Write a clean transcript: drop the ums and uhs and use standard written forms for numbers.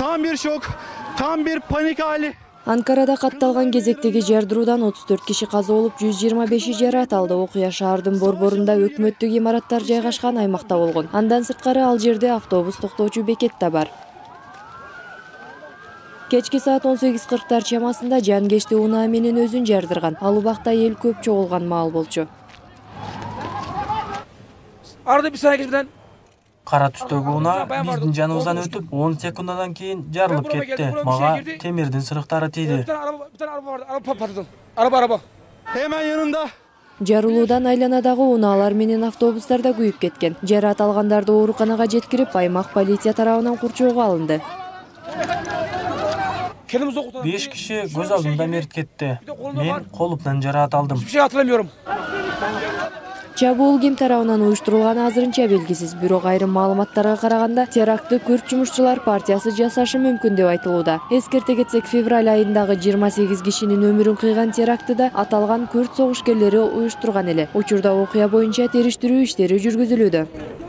Tam bir şok, tam bir panik hali. Анкарада катталган кезектеги жардыруудан 34 киши каза болуп, 125 жаракат алды. Окуя шаардын борборунда өкмөттүк имараттар жайгашкан аймакта болгон. Андан сырткары ал жерде автобус токтоочу бекет да бар. Кечки саат 18:40 чамасында жанкечти унаа менен өзүн жардырган. Ал убакта эл көп чогулган маал болчу. Arada bir saniye birden Кара түстөгү унаа биздин жаныбыздан өтүп, 10 секунддан кийин жарылып кетти. Мага темирдин сырыктары тийди. araba. Hemen yanında. Жарылуудан айланадагы унаалар менен автобустар да күйүп кеткен. Жараат алгандарды ооруканага жеткирип, аймак полиция тарабынан курчоого алынды. 5 киши көз алдымда мерт кетти. Мен колумдан жараат алдым. Hiçbir şey hatırlamıyorum. Чабуул ким тарабынан уюштурулганы азырынча белгисиз, бирок айрым маалыматтарга караганда терактты күрд жумушчулар партиясы жасашы мүмкүн деп айтылууда. Эскерте кетсек, февраль айындагы 28 кишинин өмүрүн кыйган терактыда аталган күрд согушкерлери уюштурган эле. Учурда окуя боюнча териштирүү иштери жүргүзүлүүдө.